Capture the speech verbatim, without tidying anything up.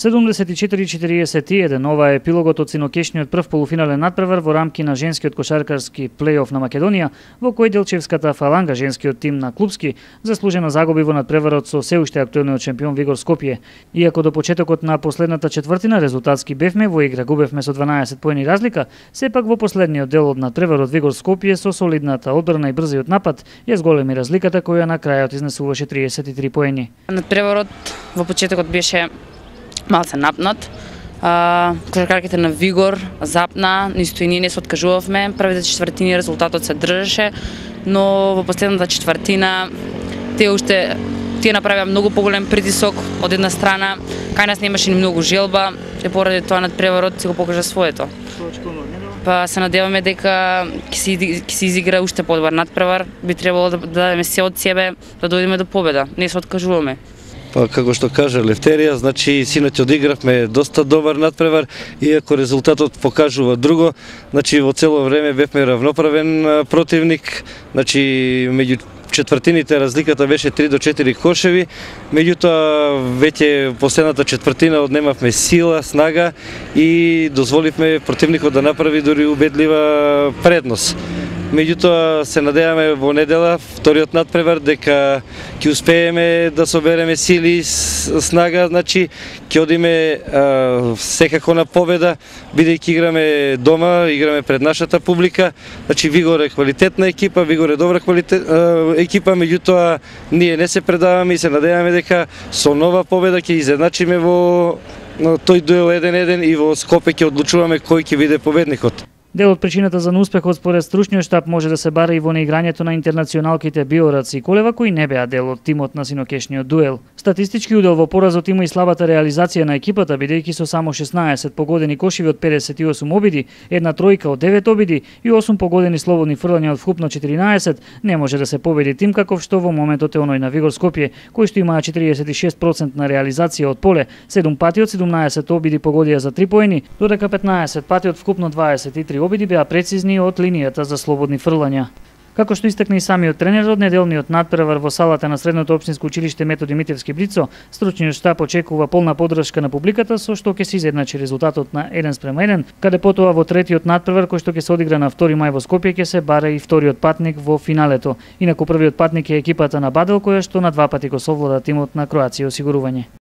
седумдесет и четири четириесет и еден, ова е епилогот од синокешниот прв полуфинален надпревар во рамки на женскиот кошаркарски плейоф на Македонија, во кој Делчевската фаланга, женскиот тим на клубски, заслужено загуби во надпреварот со се уште актуелниот шампион Вигор Скопје. Иако до почетокот на последната четвртина резултатски бевме во игра, губевме со дванаесет поени разлика, сепак во последниот дел од надпреварот Вигор Скопје со солидната одбрана и брзиот напад ја зголеми разликата која на крајот изнесуваше триесет и три поени. Надпреварот во почетокот беше малце напнат. Кошаркарките на Вигор запна, нисто и ние не се откажувавме. Првите четвртини резултатот се држеше, но во последната четвртина тие уште тие направија многу поголем притисок од една страна, кај нас немаше ни многу желба, и поради тоа надпреварот се го покажа своето. Па се надеваме дека ќе се, ќе се изигра уште подобар надпревар, би требало да дадеме се од себе да дојдеме до победа, не се откажуваме. Па како што кажа Левтерија, значи синоќ одигравме доста добар надпревар, иако резултатот покажува друго, значи во цело време бевме равноправен противник, значи меѓу четвртините разликата беше три до четири кошеви, меѓутоа веќе последната четвртина однемавме сила, снага и дозволивме противникот да направи дури убедлива предност. Меѓутоа се надеваме во недела, вториот надпревар, дека ќе успееме да собереме сили и снага, значи ќе одиме а, секако на победа, бидејќи играме дома, играме пред нашата публика. Значи Вигор е квалитетна екипа, Вигор е добра квалитет, а, екипа, меѓутоа ние не се предаваме и се надеваме дека со нова победа ќе изедначиме во тој дуел еден еден и во Скопје ќе одлучуваме кој ќе биде победникот. Дел од причината за неуспехот според стручниот штаб може да се бара и во неиграњето на интернационалките Биорац и Колева, кои не беа дел од тимот на синокешниот дуел. Статистички удел во поразот има и слабата реализација на екипата, бидејќи со само шеснаесет погодени кошеви од педесет и осум обиди, една тројка од девет обиди и осум погодени слободни фрлања од вкупно четиринаесет, не може да се победи тим каков што во моментот е оној на Вигор Скопје, кој што имаа четириесет и шест проценти на реализација од поле, седум пати од седумнаесет обиди погодија за три поени, додека петнаесет пати од вкупно дваесет и три обиди беа прецизни од линијата за слободни фрлања. Како што истакна и самиот тренер од неделниот надпревар во салата на Средното општинско училиште Методи Митевски Блицо, стручниот штаб очекува полна поддршка на публиката со што ќе се изедначи резултатот на еден спрема еден, каде потоа во третиот надпревар кој што ќе се одигра на втори мај во Скопје ќе се бара и вториот патник во финалето. Инаку првиот патник е екипата на Бадел која што на два пати го совлада тимот на Кроација осигурување.